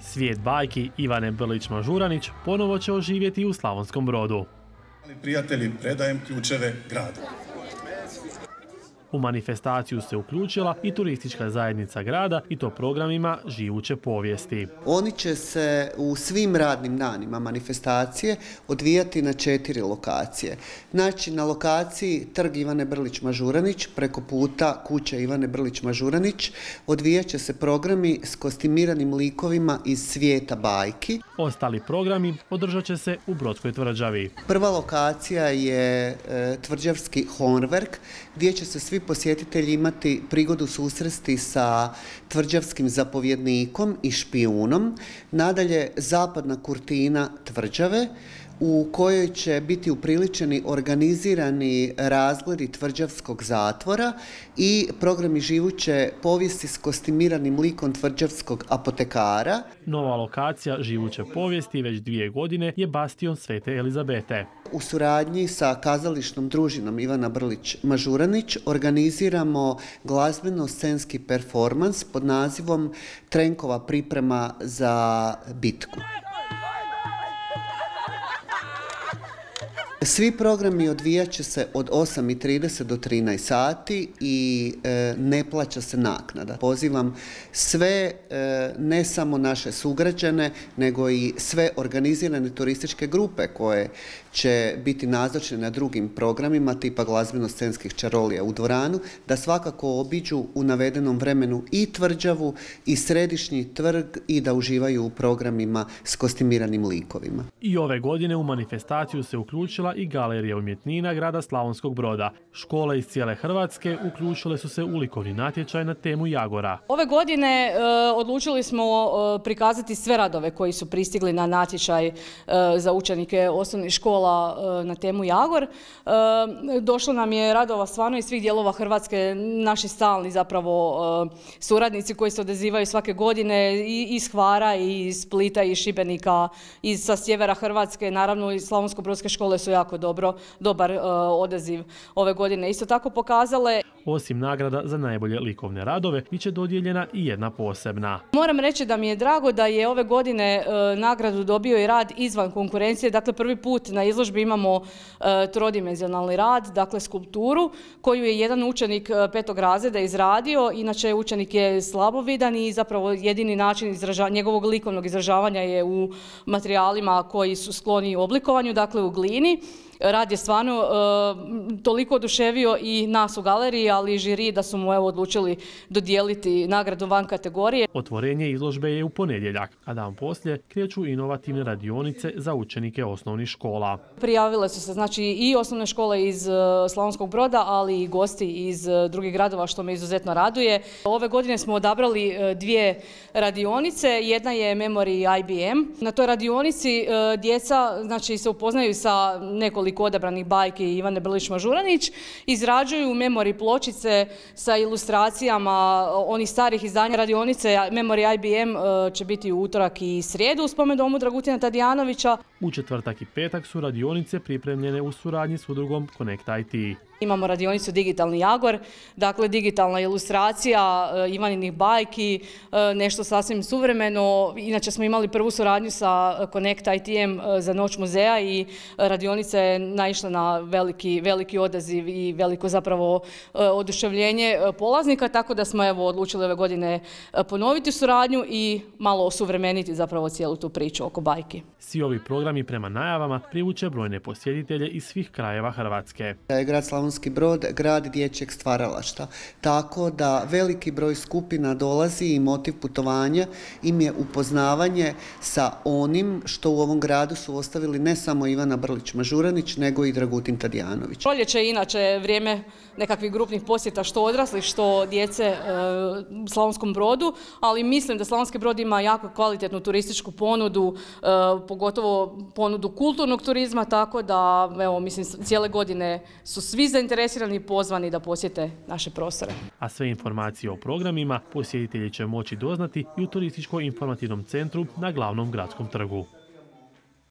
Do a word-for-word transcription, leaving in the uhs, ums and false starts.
Svijet bajki Ivane Brlić-Mažuranić ponovo će oživjeti u Slavonskom Brodu. Prijatelji, predajem ključeve grada. U manifestaciju se uključila i turistička zajednica grada i to programima živuće povijesti. Oni će se u svim radnim danima manifestacije odvijati na četiri lokacije. Znači na lokaciji Trg Ivane Brlić-Mažuranić, preko puta kuća Ivane Brlić-Mažuranić, odvijat će se programi s kostimiranim likovima iz svijeta bajki. Ostali programi održat će se u Brodskoj tvrđavi. Prva lokacija je e, tvrđavski Hornverk, gdje će se svi posjetitelji imati prigodu susresti sa tvrđavskim zapovjednikom i špijunom. Nadalje, zapadna kurtina tvrđave, u kojoj će biti upriličeni organizirani razgledi tvrđavskog zatvora i programi živuće povijesti s kostimiranim likom tvrđavskog apotekara. Nova lokacija živuće povijesti već dvije godine je bastion Svete Elizabete. U suradnji sa kazališnom družinom Ivana Brlić-Mažuranić organiziramo glazbeno-scenski performans pod nazivom Trenkova priprema za bitku. Svi programi odvijat će se od osam i trideset do trinaest sati i e, ne plaća se naknada. Pozivam sve, e, ne samo naše sugrađane, nego i sve organizirane turističke grupe koje će biti nazočne na drugim programima tipa glazbeno-scenskih čarolija u dvoranu, da svakako obiđu u navedenom vremenu i tvrđavu i središnji trg i da uživaju u programima s kostimiranim likovima. I ove godine u manifestaciju se uključila i Galerija umjetnina grada Slavonskog Broda. Škole iz cijele Hrvatske uključile su se u likovni natječaj na temu Jagora. Ove godine e, odlučili smo e, prikazati sve radove koji su pristigli na natječaj e, za učenike osnovnih škola e, na temu Jagor. E, došlo nam je radova stvarno iz svih dijelova Hrvatske, naši stalni zapravo e, suradnici koji se odazivaju svake godine i iz Hvara, i iz Splita, i iz Šibenika, i sa sjevera Hrvatske. Naravno i slavonsko-brodske škole su jako dobro, dobar uh, odaziv ove godine isto tako pokazale. Osim nagrada za najbolje likovne radove, bit će dodijeljena i jedna posebna. Moram reći da mi je drago da je ove godine uh, nagradu dobio i rad izvan konkurencije. Dakle, prvi put na izložbi imamo uh, trodimenzionalni rad, dakle skulpturu, koju je jedan učenik uh, petog razreda izradio. Inače, učenik je slabovidan i zapravo jedini način izraža, njegovog likovnog izražavanja je u materijalima koji su skloni oblikovanju, dakle u glini. Rad je stvarno uh, toliko oduševio i nas u galeriji, ali i žiri da su mu evo odlučili dodijeliti nagradu van kategorije. Otvorenje izložbe je u ponedjeljak, a dan poslije kreću inovativne radionice za učenike osnovnih škola. Prijavile su se znači i osnovne škole iz uh, Slavonskog Broda, ali i gosti iz uh, drugih gradova, što me izuzetno raduje. Ove godine smo odabrali uh, dvije radionice. Jedna je Memory I B M. Na toj radionici uh, djeca znači se upoznaju sa nekoliko odabranih bajki Ivane Brlić-Mažuranić, izrađuju memori pločice sa ilustracijama onih starih izdanja. Radionice Memory I B M će biti u utorak i srijedu u spomendomu Dragutina Tadijanovića. U četvrtak i petak su radionice pripremljene u suradnji s udrugom Connect I T. Imamo radionicu Digitalni Jagor, dakle digitalna ilustracija Ivaninih bajki, nešto sasvim suvremeno. Inače smo imali prvu suradnju sa Connect I T-em za Noć muzeja i radionica je naišla na veliki, veliki odaziv i veliko zapravo oduševljenje polaznika, tako da smo evo odlučili ove godine ponoviti suradnju i malo osuvremeniti zapravo cijelu tu priču oko bajki. Svi ovi programi prema najavama privuče brojne posjetitelje iz svih krajeva Hrvatske. Grad Slavonski Brod, grad dječjeg stvaralaštva, tako da veliki broj skupina dolazi i motiv putovanja im je upoznavanje sa onim što u ovom gradu su ostavili ne samo Ivana Brlić-Mažuranić, nego i Dragutin Tadijanović. Proljeće je inače vrijeme nekakvih grupnih posjeta, što odraslih, što djece e, u Slavonskom Brodu, ali mislim da Slavonski Brod ima jako kvalitetnu turističku ponudu, e, pogotovo ponudu kulturnog turizma, tako da evo, mislim, cijele godine su svi zainteresirani i pozvani da posjete naše prostore. A sve informacije o programima posjetitelji će moći doznati i u Turističko-informativnom centru na Glavnom gradskom trgu.